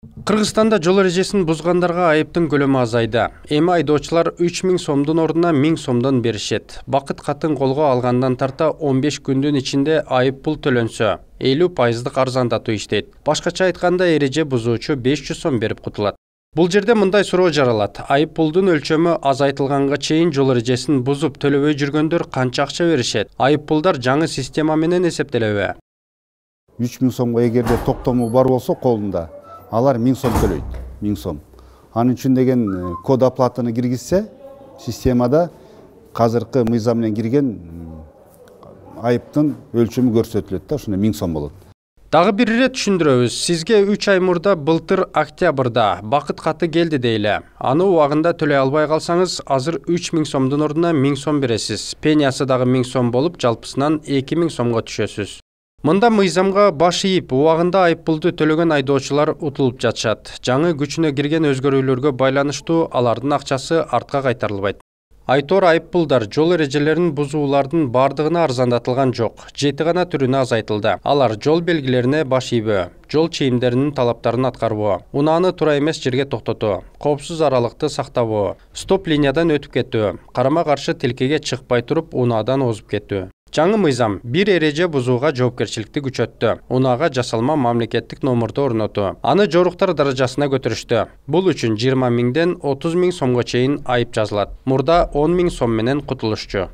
Кыргызстанда жол эрежесин бузгандарга айыптын көлөмү азайды. Эми айдоочулар 3000 сомдун ордуна 1000 сомдон беришет. Бакыт катын колго алгандан тарта 15 күндүн ичинде айып пул төлөнсө, 50% арзандатуу иштейт. Башкача айтканда, эреже бузуучу 500 сом берип кутулат. Бул жерде мындай суроо жаралат. Айып пулдун өлчөмү азайтылганга чейин жол эрежесин бузуп төлөбөй жүргөндөр канча акча беришет? Айып пулдар жаңы система менен эсептелеби? 3000 сомго эгерде токтому бар болсо колунда, алар 1000 сом төлөйт. 1000 сом. Анын үчүн деген код оплатаны киргизсе, системада казыркы мыйзам менен кирген айыптын өлчөмү көрсөтүлөт да, ошондо 1000 сом болот. Дагы бир ирет түшүндүрөбүз. Сизге 3 ай мурда былтыр октябрда бакыт каты келди дейле. Аны убагында төлөй албай калсаңыз, азыр 3000 сомдун ордуна 1000 сом бересиз. Пениясы дагы 1000 сом болуп, жалпысынан 2000 сомго түшөсүз. Мында мыйзамга баш ийип, убагында айып пулду төлөгөн айдоочулар утулуп жатышат. Жаңы күчүнө кирген өзгөрүүлөргө байланыштуу алардын акчасы артка кайтарылбайт. Айтор айып пулдар жол эрежелерин бузуулардын бардыгына арзандатылган жок. 7 гана түрүнө азайтылды. Алар жол белгилерине баш ийбөө, жол чейимдеринин талаптарын аткарбоо, унааны туура эмес жерге токтотуу, коопсуз аралыкты сактабоо, стоп линиядан өтүп кетүү, карама каршы тилкеге чыкпай туруп унаадан озуп кетүү. Жаңы мыйзам бир эреже бузууга жоопкерчиликти күчөттү. Унаага жасалма мамлекеттик номурду орнотуу. Аны жоруктар даражасына көтөрүштү. Бул үчүн 20 миңден 30 миң сомго чейин айып жазылат. Мурда 10 миң сом менен кутулушчу.